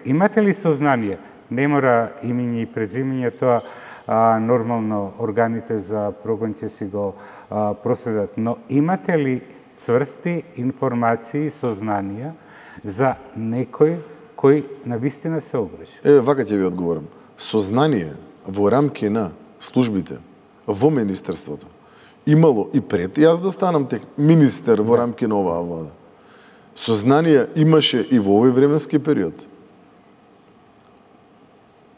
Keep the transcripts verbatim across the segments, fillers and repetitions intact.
имате ли сознание, не мора имење и презимење, тоа а, нормално органите за прогон ќе си го а, проследат, но имате ли цврсти информации, сознанија за некој кој навистина се огреши? Е, вака ќе ви одговорам. Сознание во рамки на службите во министерството имало и пред јас да станам тек министер во рамки на оваа влада. Сознание имаше и во овој временски период.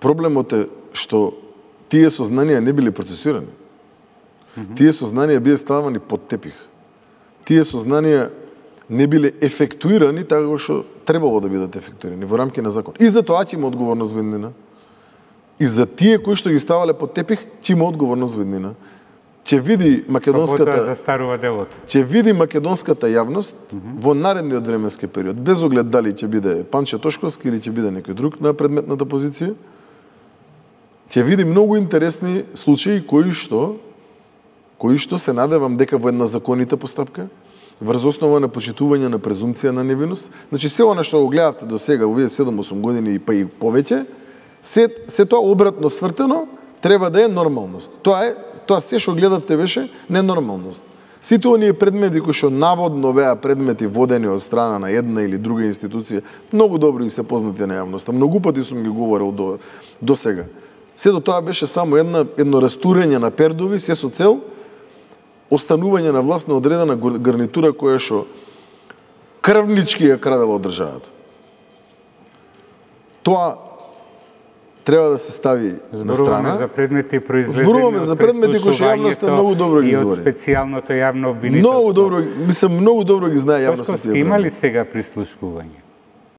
Проблемот е што тие сознанија не биле процесирани. Mm-hmm. Тие сознанија биле ставани под тепих. Тие сознанија не биле ефектуирани така што требало да бидат ефектуирани во рамки на закон. И за тоа ќе има одговорност веднина. И за тие кои што ги ставале под тепих, ќе има одговорност веднина. Ќе види македонската застарува делото. Ќе види македонската јавност mm -hmm. во наредниот временски период, без оглед дали ќе биде Панче Тошковски или ќе биде некој друг на предметната позиција. Ќе види многу интересни случаи кои што кои што се надевам дека во една законита постапка, врз основа на почитување на презумпција на невиност, значи се она што го гледавте до сега, овие седум-осум години и па и повеќе, се се тоа обратно свртено треба да е нормалност. Тоа е тоа се што гледавте беше ненормалност. Сите оние предмети кои што наводно беа предмети водени од страна на една или друга институција, многу добро и се познати на јавноста. Многу пати сум ги говорил до до сега. Сето тоа беше само една едно растурење на пердови, се со цел останување на власт на одредена гарнитура која што крвнички ја крадела од државата. Тоа треба да се стави на страна. Зборуваме за предмети произведени. Зборуваме за предмети кои што јавноста многу добро ги збори. И од специјалното јавно обвинителство. Многу добро, мислам многу добро ги знае јавноста тие. Има ли сега прислушкување?